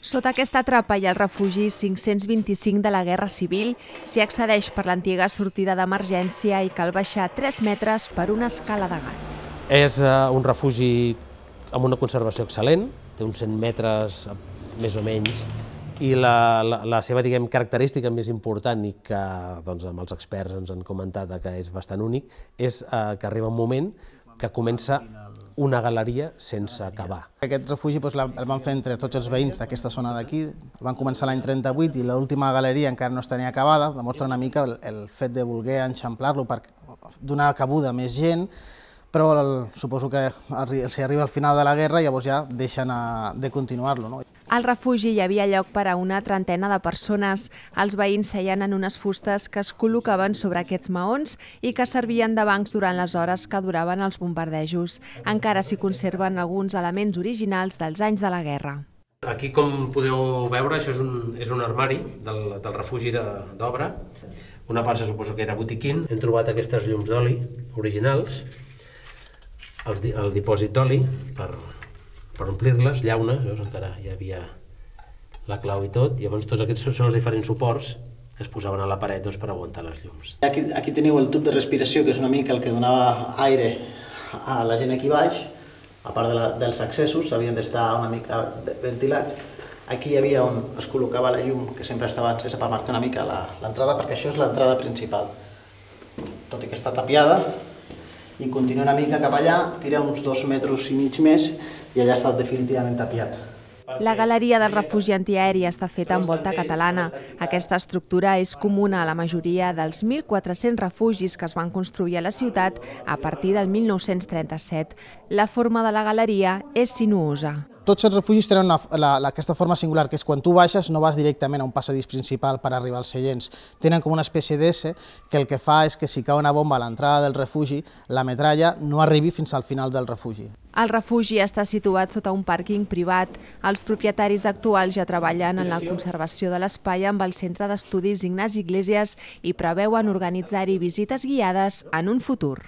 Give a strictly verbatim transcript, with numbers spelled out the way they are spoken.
Sota aquesta trapa hi ha el refugi cinc-cents vint-i-cinc de la Guerra Civil. S'hi accedeix per l'antiga sortida d'emergència i cal baixar tres metres per una escala de gat. És un refugi amb una conservació excel·lent, té uns cent metres més o menys, i la, la, la seva diguem, característica més important i que doncs, amb els experts ens han comentat que és bastant únic, és eh, que arriba un moment que comença una galeria sense acabar. Aquest refugi doncs, el van fer entre tots els veïns d'aquesta zona d'aquí, el van començar l'any trenta-vuit i l'última galeria encara no es tenia acabada, demostra una mica el, el fet de voler enxamplar-lo per donar cabuda a més gent, però el, suposo que s'hi arriba al final de la guerra i llavors ja deixen a, de continuar-lo. No? Al refugi hi havia lloc per a una trentena de persones. Els veïns seien en unes fustes que es col·locaven sobre aquests maons i que servien de bancs durant les hores que duraven els bombardejos. Encara s'hi conserven alguns elements originals dels anys de la guerra. Aquí, com podeu veure, això és un, és un armari del, del refugi d'obra. Una part se suposa que era botiquín. Hem trobat aquestes llums d'oli originals, el, el dipòsit d'oli per... per omplir-les, llauna, veus, encara hi havia la clau i tot, i llavors tots aquests són els diferents suports que es posaven a la paret doncs, per aguantar les llums. Aquí, aquí teniu el tub de respiració, que és una mica el que donava aire a la gent aquí baix, a part de la, dels accessos, havien d'estar una mica ventilats. Aquí hi havia on es col·locava la llum, que sempre estava encesa per marcar una mica l'entrada, perquè això és l'entrada principal. Tot i que està tapiada, i continua una mica cap allà, tira uns dos metres i mig més i allà està definitivament tapiat. La galeria del refugi antiaeri està feta amb volta catalana. Aquesta estructura és comuna a la majoria dels mil quatre-cents refugis que es van construir a la ciutat a partir del mil nou-cents trenta-set. La forma de la galeria és sinuosa. Tots els refugis tenen una, la, la, aquesta forma singular, que és quan tu baixes no vas directament a un passadís principal per arribar als seients. Tenen com una espècie d'S que el que fa és que si cau una bomba a l'entrada del refugi, la metralla no arribi fins al final del refugi. El refugi està situat sota un pàrquing privat. Els propietaris actuals ja treballen en la conservació de l'espai amb el Centre d'Estudis Ignasi Iglesias i preveuen organitzar-hi visites guiades en un futur.